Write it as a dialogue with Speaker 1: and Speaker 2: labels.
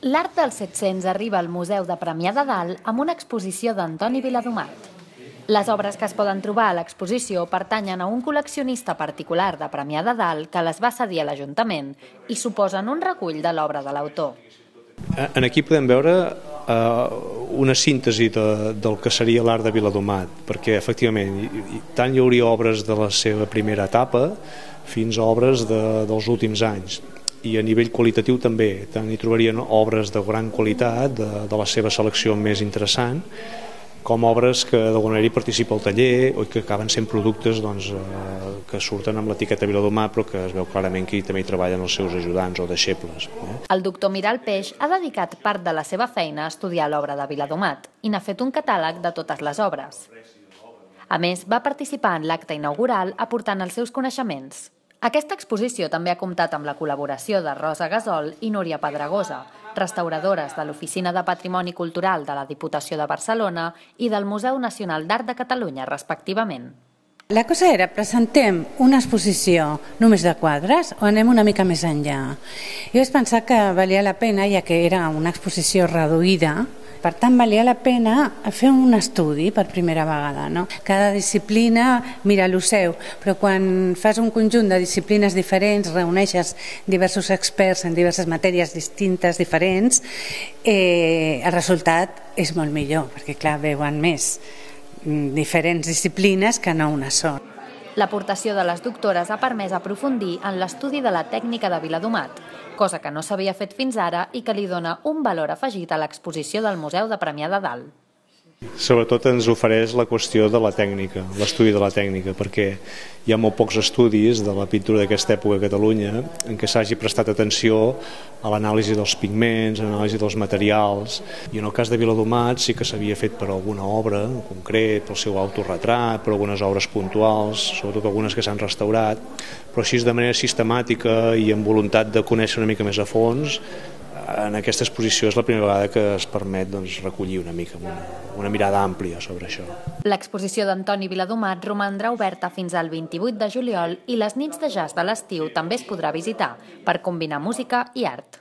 Speaker 1: L'art dels 700 arriba al Museu de Premià de Dalt amb una exposició d'Antoni Viladomat. Les obres que es poden trobar a l'exposició pertanyen a un col·leccionista particular de Premià de Dalt que les va cedir a l'Ajuntament i suposen un recull de l'obra de l'autor.
Speaker 2: Aquí podem veure una síntesi del que seria l'art de Viladomat, perquè efectivament tant hi hauria obres de la seva primera etapa fins a obres dels últims anys, i a nivell qualitatiu també, tant hi trobarien obres de gran qualitat, de la seva selecció més interessant, com obres que d'alguna manera hi participa el taller o que acaben sent productes que surten amb l'etiqueta Viladomat, però que es veu clarament que també hi treballen els seus ajudants o deixebles.
Speaker 1: El doctor Miral Peix ha dedicat part de la seva feina a estudiar l'obra de Viladomat i n'ha fet un catàleg de totes les obres. A més, va participar en l'acte inaugural aportant els seus coneixements. Aquesta exposició també ha comptat amb la col·laboració de Rosa Gasol i Núria Pedregosa, restauradores de l'Oficina de Patrimoni Cultural de la Diputació de Barcelona i del Museu Nacional d'Art de Catalunya, respectivament.
Speaker 3: La cosa era, presentem una exposició només de quadres o anem una mica més enllà? Jo vaig pensar que valia la pena, ja que era una exposició reduïda, per tant, valia la pena fer un estudi per primera vegada, no? Cada disciplina mira el seu, però quan fas un conjunt de disciplines diferents, reuneixes diversos experts en diverses matèries distintes, diferents, el resultat és molt millor, perquè clar, veuen més diferents disciplines que no una sola.
Speaker 1: L'aportació de les doctores ha permès aprofundir en l'estudi de la tècnica de Viladomat, cosa que no s'havia fet fins ara i que li dona un valor afegit a l'exposició del Museu de Premià de Dalt.
Speaker 2: Sobretot ens ofereix la qüestió de la tècnica, l'estudi de la tècnica, perquè hi ha molt pocs estudis de la pintura d'aquesta època a Catalunya en què s'hagi prestat atenció a l'anàlisi dels pigments, a l'anàlisi dels materials, i en el cas de Viladomat sí que s'havia fet per alguna obra en concret, pel seu autorretrat, per algunes obres puntuals, sobretot algunes que s'han restaurat, però així de manera sistemàtica i amb voluntat de conèixer una mica més a fons. En aquesta exposició és la primera vegada que es permet recollir una mica una mirada àmplia sobre això.
Speaker 1: L'exposició d'Antoni Viladomat romandrà oberta fins al 28 de juliol i les nits de jazz de l'estiu també es podrà visitar per combinar música i art.